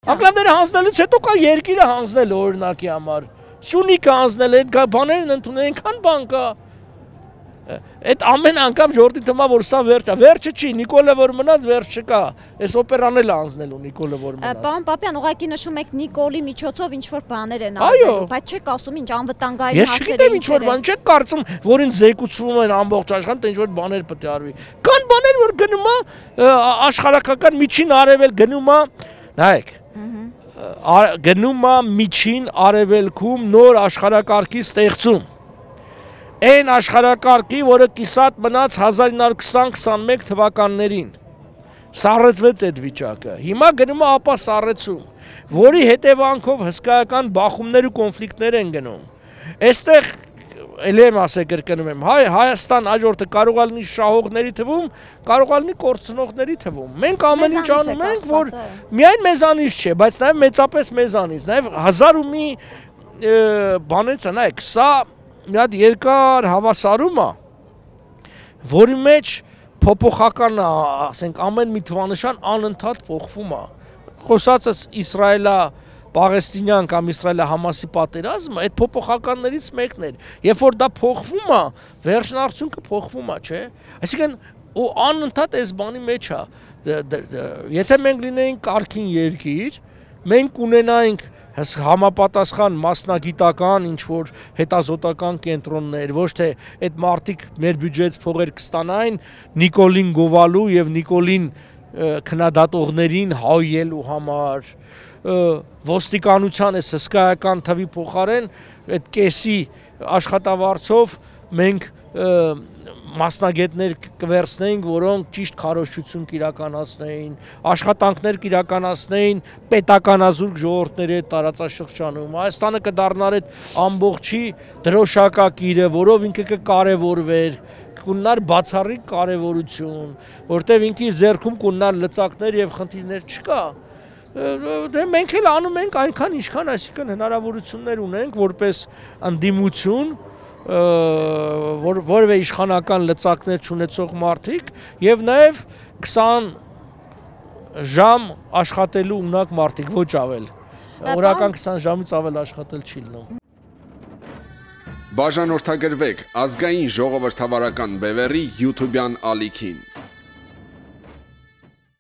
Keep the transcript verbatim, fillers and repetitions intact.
Անկլավները հանձնելուց հետո կա երկիրը հանձնել օրինակի համար։ Սյունիքը հանձնել, այդ բաներն ընդունել, այնքան բան կա։ Այդ ամեն անգամ ժողովրդի թվում է, որ սա վերջ է, վերջը չի, Նիկոլը որ մնաց, վերջ չկա, այս օպերանն էլ անձնելու Նիկոլը որ մնաց։ Պարոն Պապյան, ուղղակի նշում եք Նիկոլի միջոցով ինչ-որ բաներ են արվելու, բայց չեք ասում ինչ անվտանգային հարցեր են։ Ես չգիտեմ ինչ-որ բան, չեք կարծում, որ ինձ զեկուցվում են ամբողջ աշխարհում, թե ինչ-որ բաներ պետք է արվի։ Կան բաներ, որ գնում է աշխարհական միջին արևել գնում է, նայեք, գնում է միջին արևելքում նոր աշխարհակարգի ստեղծում։ Այն աշխարհակարգի, որը կիսատ մնաց հազար ինը հարյուր քսան քսանմեկ թվականներին, սառեցվեց այդ վիճակը, հիմա գնում է ապա սառեցում, որի հետևանքով հսկայական բախումներ ու կոնֆլիկտներ են գնում, այստեղ էլ եմ ասել կրկնում եմ, հայ Հայաստան հաջորդը կարող է լինի շահողների թվում, կարող է լինի կորցնողների թվում, մենք ամեն ինչ անում ենք, որ միայն մեզանից չէ, բայց նաև մեծապես մեզանից, նաև հազար ու մի բանից է, նայեք, սա մի հատ երկար հավասարում է, որի մեջ փոփոխական է, ասենք ամեն մի թվանշան անընդհատ փոխվում է։ Խոսածս Իսրայելա Պաղեստինյան կամ Իսրայելա-Համասի պատերազմը այդ փոփոխականներից մեկն էր։ Երբ որ դա փոխվում է, վերջն արդյունքը փոխվում է, չէ՞։ Այսինքն ու անընդհատ այս բանի մեջ է։ Եթե մենք լինեինք կարգին երկիր, մենք ունենայինք համապատասխան մասնագիտական ինչ-որ հետազոտական կենտրոններ, ոչ թե այդ մարդիկ մեր բյուջեից փողեր կստանային Նիկոլին գովալու և Նիկոլին քննադատողներին հայելու համար, ոստիկանության այս հսկայական թվի փոխարեն այդ կեսի աշխատավարձով մենք մասնագետներ կվերցնեինք, որոնք ճիշտ քարոզչություն կիրականացնեին, աշխատանքներ կիրականացնեին պետականազուրկ ժողովուրդների հետ տարածաշրջանում։ Հայաստանը կդառնար այդ ամբողջի դրոշակակիրը, որով ինքը կկարևորվեր, կունենար բացառիկ կարևորություն, որտեղ ինքը իր ձեռքում կունենար լծակներ եւ խնդիրներ չկա։ Դե մենք էլ անում ենք այնքան ինչքան, այսինքն հնարավորություններ ունենք որպես ընդդիմություն, որ որևէ իշխանական լծակներ չունեցող մարդիկ եւ նաեւ քսան ժամ աշխատելու ունակ մարդիկ, ոչ ավել։ Օրական քսան ժամից ավել աշխատել չի լինում։ Բաժանորդագրվեք ազգային ժողովրդավարական բևեռի YouTube-յան ալիքին։